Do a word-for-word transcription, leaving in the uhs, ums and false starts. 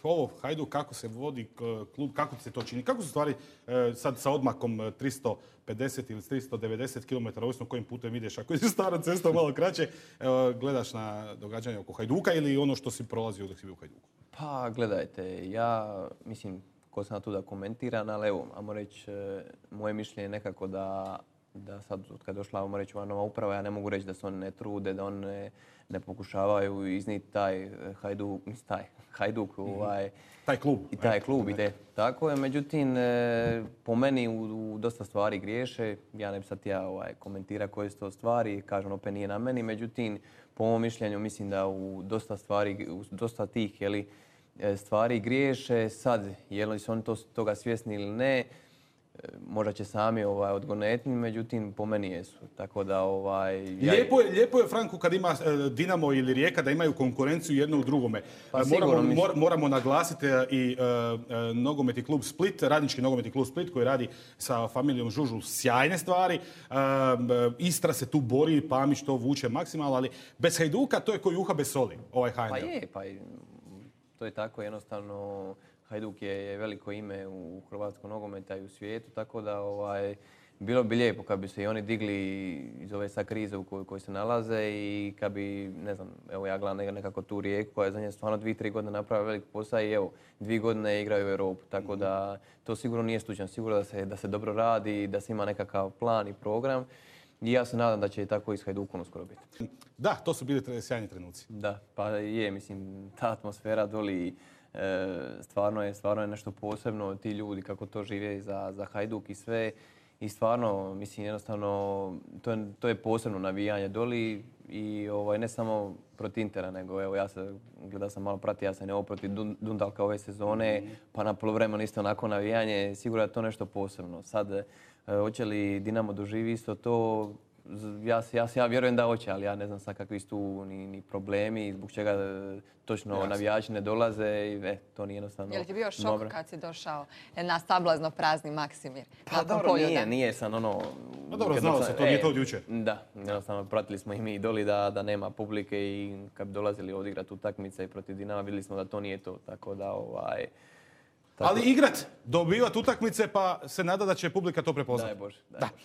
ovo, Hajduk, kako se vodi klub, kako se to čini? Kako su stvari sad sa odmakom tristo pedeset ili tristo devedeset kilometara, ovisno kojim putem ideš, ako je stara cesta malo kraće, gledaš na događanje oko Hajduka ili ono što si prolazio dok si bio u Hajduku? Pa gledajte, ja mislim, ko sam tu da komentiram, ali evo, ajmo reći, moje mišljenje je nekako da da sad kad je došla, ajmo reći, ova nova uprava, ja ne mogu reći da se oni ne trude, da oni ne, ne pokušavaju izniti taj Hajduk, taj Hajduk, ovaj, taj klub. I taj klub ide. Tako je, međutim, po meni u, u dosta stvari griješe. Ja ne bi sad ja ovaj, komentira koje su to stvari, kažem, opet nije na meni, međutim, po mom mišljenju mislim da u dosta stvari, u dosta tih, jeli, stvari griješe. Sad, je li su oni to, toga svjesni ili ne, možda će sami ovaj, odgonetni, međutim po meni jesu. Tako da, ovaj, ja... lijepo, je, lijepo je, Franku, kad ima Dinamo ili Rijeka da imaju konkurenciju jedno u drugome. Pa, moramo, mor, moramo naglasiti i uh, uh, nogometni klub Split, radnički nogometni klub Split koji radi sa familijom Žužul sjajne stvari. Uh, Istra se tu bori, Pamić to vuče maksimalno, ali bez Hajduka to je koji juha bez soli, ovaj H N L. Pa je, pa je, to je tako jednostavno. Hajduk je veliko ime u hrvatskom nogometa i u svijetu, tako da ovaj, bilo bi lijepo kad bi se i oni digli iz ove sad krize u kojoj, kojoj se nalaze i kad bi, ne znam, evo ja gledam nekako tu Rijeku koja je za nje stvarno dvije, tri godine napravila velik posao i evo, dvije godine igraju u Europu, tako da to sigurno nije slučajno, sigurno da se, da se dobro radi, da se ima nekakav plan i program. I ja se nadam da će i tako i s Hajdukom uskoro biti. Da, to su bili sjajni trenuci. Da, pa je, mislim, ta atmosfera doli e, stvarno je, stvarno je nešto posebno, ti ljudi kako to žive za, za Hajduk i sve. I stvarno, mislim, jednostavno, to je, to je posebno navijanje doli i ovaj, ne samo protiv Intera, nego evo, ja se, gledao sam malo pratio, ja sam evo protiv Dundalka ove sezone, mm. pa na poluvremenu isto onako navijanje, sigurno je to nešto posebno. Sad, e, hoće li Dinamo doživi isto to? Ja, ja, ja vjerujem da hoće, ali ja ne znam sad kakvi su tu ni, ni problemi, zbog čega točno ja, navijači ne dolaze i e, to nije jednostavno. Je li ti bio šok dobro. Kad si došao na sablazno prazni Maksimir? Pa dobro, polju, nije, nije sam ono... Pa dobro, znao se, to nije to od jučer. Da, jednostavno pratili smo i mi doli da, da nema publike i kad bi dolazili odigrati utakmice protiv Dinama vidjeli smo da to nije to, tako da ovaj... Tako... Ali igrat, dobivat utakmice pa se nada da će publika to prepoznati. Daj Bože. Daj da. Bože.